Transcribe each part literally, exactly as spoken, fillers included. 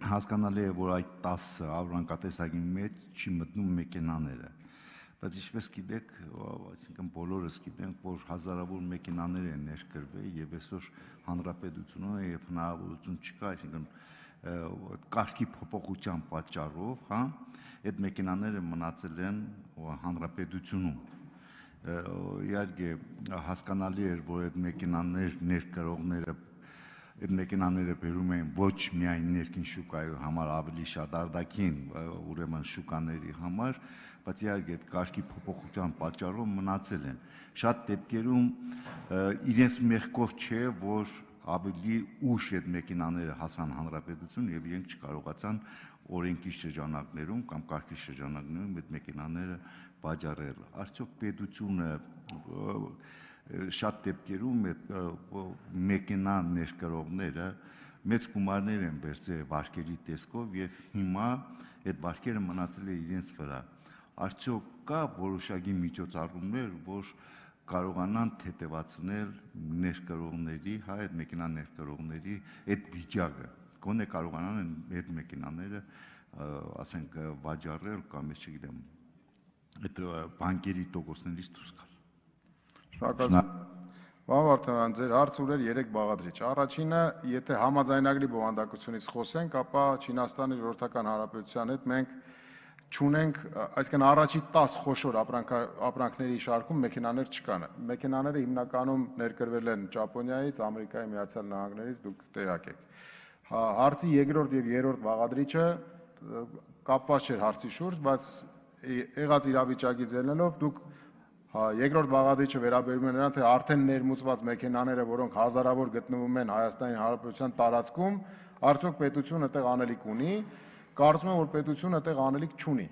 հասկանալի է, որ այդ տասը ապրանքատեսակի մեջ չի մտնում մեքենաները, բայց ինչպես գիտեք, այսինքն բոլորս գիտենք, որ հազարավոր մեքենաներ են ներկրվել եւ այսօր հանրապետությունը եւ հնարավորություն չկա, այսինքն կարգի փոփոխության պատճառով, հա, այդ մեքենաները մնացել են հանրապետությունում։ Իհարկե հասկանալի էր, որ այդ մեքենաներ ներկրողները այդ մեքենաները բերում են ոչ միայն ներքին շուկայի համար, ավելի շատ արտաքին, ուրեմն շուկաների համար, բայց իհարկե այդ կարգի փոփոխության պատճառով մնացել են։ Շատ դեպքերում իրենց մեղքով չէ, որ ավելի ուշ այդ մեքենաները հասան հանրապետություն եւ իրենք չկարողացան օրենքի շրջանակներում կամ կարգի շրջանակներում այդ մեքենաները վաճառել։ Արդյոք պետությունը շատ դեպքերում այդ մեքենա ներկրողները մեծ գումարներ են վերցրել վարկերի տեսքով եւ հիմա այդ վարկերը մնացել է իրենց վրա։ Արդյոք կա որոշակի միջոցառումներ, որ կարողանան թեթևացնել ներկրողների, հա, այդ մեքենա ներկրողների այդ վիճակը, գոնե կարողանան այդ մեքենաները, ասենք, վաճառել կամ ես չգիտեմ, այդ բանկերի տոկոսներից դուրս գալ։ Շնորհակալություն։ Պարոն Վարդանյան, ձեր հարցը ուներ երեք բաղադրիչ։ Առաջինը, եթե համաձայնագրի բովանդակությունից խոսենք, ապա Չինաստանի Ժողովրդական Հանրապետության հետ մենք չունենք, այսինքն առաջի տաս խոշոր ապրանքների շարքում մեքենաներ չկան։ Մեքենաները հիմնականում ներկրվել են Ճապոնիայից, Ամերիկայի Միացյալ Նահանգներից, դուք տեղյակ եք։ Հարցի երկրորդ եւ երրորդ բաղադրիչը կապված չէր հարցի շուրջ, բայց եղած իրավիճակից ելնելով դուք երկրորդ բաղադրիչը վերաբերում է նրան, թե արդեն ներմուծված մեքենաները, որոնք հազարավոր գտնվում են Հայաստանի Հանրապետության տարածքում, արդյոք պետությունը այդտեղ անելիք ունի։ Կարծում եմ, որ պետությունը այդտեղ անելիք չունի։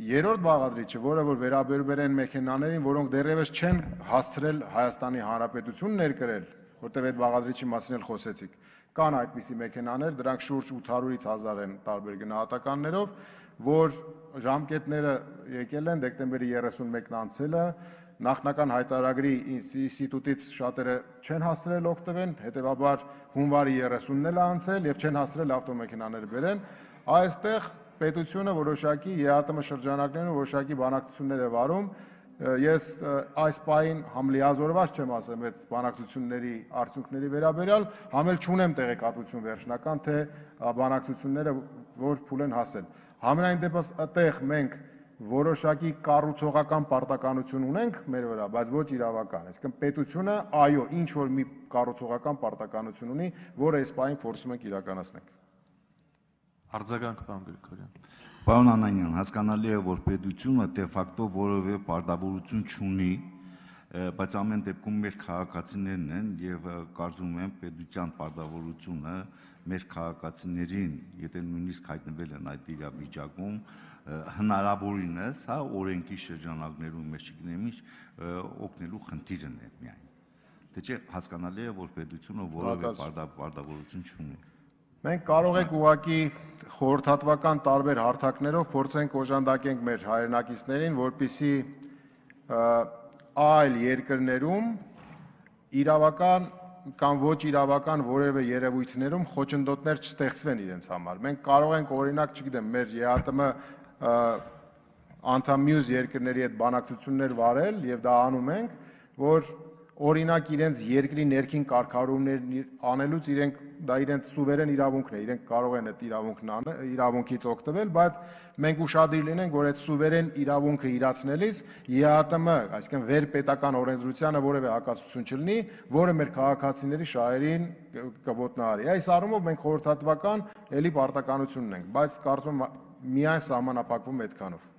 Երրորդ բաղադրիչը, որը որ վերաբերում են մեքենաներին, որոնք դեռևս չեն հասցրել Հայաստանի Հանրապետություն ներկրել, որտեղ այդ բաղադրիչի մասին էլ խոսեցիք, կան այդպիսի մեքենաներ, դրանք շուրջ ութ հարյուրից հազար են տարբեր գնահատականներով, որ ժամկետները եկել են դեկտեմբերի երեսունմեկն անցելը, նախնական հայտարարագրի ինստիտուտից շատերը չեն հասցրել օգտվել, հետևաբար հունվարի երեսունն էլ անցել եւ չեն հասցրել ավտոմեքենաներ բերեն, այստեղ պետությունը որոշակի ԵԱՏՄ շրջանակներում որոշակի բանակցություններ է վարում, ես այս պահին համ լիազորված չեմ ասեմ այդ բանակցությունների արդյունքների վերաբերյալ, համ էլ չունեմ տեղեկատվություն վերջնական, թե բանակցությունները որ փուլ են հասել։ Համենայն դեպս այդտեղ մենք որոշակի կառուցողական պարտականություն ունենք մեր վրա, բայց ոչ իրավական։ Այսինքն պետությունը, այո, ինչ որ մի կառուցողական պարտականություն ունի, որը այս պահին փորձում ենք իրականացնել։ Արձագանք, պարոն Գրիգորյան։ Պարոն Անանյան, հասկանալի է, որ պետությունը դե ֆակտո որևէ պարտավորություն չունի, բայց ամեն դեպքում մեր քաղաքացիներն են եւ կարծում եմ պետության պարտավորությունը մեր քաղաքացիներին, եթե նույնիսկ հայտնվել են այդ իրավիճակում, հնարավորինս, հա, օրենքի շրջանակներում, ես չգիտեմ ինչ, օգնելու խնդիրն է միայն։ Դե չէ, հասկանալի է, որ պետությունը որևէ պարտավորություն չունի։ Մենք կարող ենք ուղղակի խորհրդատվական տարբեր հարթակներով փորձենք օժանդակենք մեր հայրենակիցներին, որպեսզի այլ երկրներում իրավական կամ ոչ իրավական որևէ երևույթներում խոչընդոտներ չստեղծվեն իրենց համար։ Մենք կարող ենք օրինակ, չգիտեմ, մեր ԵԱՏՄ անդամ մյուս երկրների հետ բանակցություններ վարել եւ դա անում ենք, որ օրինակ իրենց երկրի ներքին կարգավորումներ անելուց իրենք դա իրենց սուվերեն իրավունքն է, իրենք կարող են այդ իրավունքն իրավունքից օգտվել, բայց մենք ուշադիր լինենք, որ այդ սուվերեն իրավունքը իրացնելիս ԵԱՏՄ, այսինքն վերպետական օրենսդրությանը որևէ հակասություն չլինի, որը մեր քաղաքացիների շահերին կոտնահարի։ Այս առումով մենք խորհրդատվական էլի պարտականություն ունենք, բայց կարծում եմ միայն սահմանափակվում այդքանով։